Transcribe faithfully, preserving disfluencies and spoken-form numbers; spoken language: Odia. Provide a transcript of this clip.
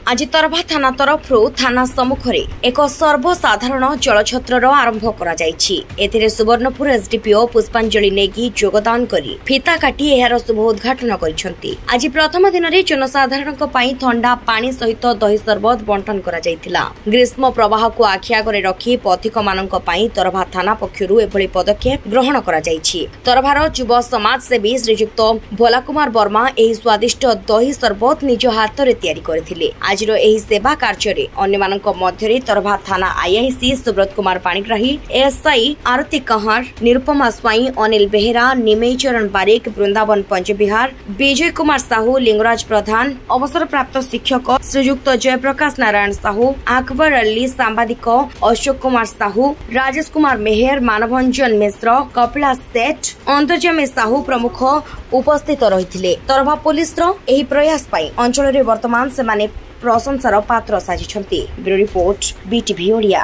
ଆଜି ତରଭା ଥାନା ତରଫରୁ ଥାନା ସମ୍ମୁଖରେ ଏକ ସର୍ବସାଧାରଣ ଜଳଛତ୍ରର ଆରମ୍ଭ କରାଯାଇଛି। ଏଥିରେ ସୁବର୍ଣ୍ଣପୁର ଏସ୍ଡିପିଓ ପୁଷ୍ପାଞ୍ଜଳି ନେଗି ଯୋଗଦାନ କରି ଫିତା କାଟି ଏହାର ଶୁଭ ଉଦ୍ଘାଟନ କରିଛନ୍ତି। ଆଜି ପ୍ରଥମ ଦିନରେ ଜନସାଧାରଣଙ୍କ ପାଇଁ ଥଣ୍ଡା ପାଣି ସହିତ ଦହି ସରବତ ବଣ୍ଟନ କରାଯାଇଥିଲା। ଗ୍ରୀଷ୍ମ ପ୍ରବାହକୁ ଆଖି ଆଗରେ ରଖି ପଥିକମାନଙ୍କ ପାଇଁ ତରଭା ଥାନା ପକ୍ଷରୁ ଏଭଳି ପଦକ୍ଷେପ ଗ୍ରହଣ କରାଯାଇଛି। ତରଭାର ଯୁବ ସମାଜସେବୀ ଶ୍ରୀଯୁକ୍ତ ଭୋଲା କୁମାର ବର୍ମା ଏହି ସ୍ୱାଦିଷ୍ଟ ଦହି ସରବତ ନିଜ ହାତରେ ତିଆରି କରିଥିଲେ। ଆଜିର ଏହି ସେବା କାର୍ଯ୍ୟରେ ଅନ୍ୟମାନଙ୍କ ମଧ୍ୟରେ ତରଭା ଥାନା ଆଇଆଇସି ସୁବ୍ରତ କୁମାର ପାଣିଗ୍ରାହୀ, ଏଏସ୍ଆଇ ଆରତୀ କହଁର, ନିରୁପମା ସ୍ୱାଇଁ, ଅନିଲ ବେହେରା, ନିମେଇ ଚରଣ ବାରିକ, ବୃନ୍ଦାବନ ପଞ୍ଚବିହାର, ବିଜୟ କୁମାର ସାହୁ, ଲିଙ୍ଗରାଜ ପ୍ରଧାନ, ଅବସରପ୍ରାପ୍ତ ଶିକ୍ଷକ ଶ୍ରୀଯୁକ୍ତ ଜୟପ୍ରକାଶ ନାରାୟଣ ସାହୁ, ଆକବର ଅଲ୍ଲୀ, ସାମ୍ବାଦିକ ଅଶୋକ କୁମାର ସାହୁ, ରାଜେଶ କୁମାର ମେହେର, ମାନଭଞ୍ଜନ ମିଶ୍ର, କପିଳା ସେଠ, ଅନ୍ତର୍ଜାମୀ ସାହୁ ପ୍ରମୁଖ ଉପସ୍ଥିତ ରହିଥିଲେ। ତରଭା ପୋଲିସର ଏହି ପ୍ରୟାସ ପାଇଁ ଅଞ୍ଚଳରେ ବର୍ତ୍ତମାନ ସେମାନେ ପ୍ରଶଂସାର ପାତ୍ର ସାଜିଛନ୍ତି। Bureau report, BTV Odia.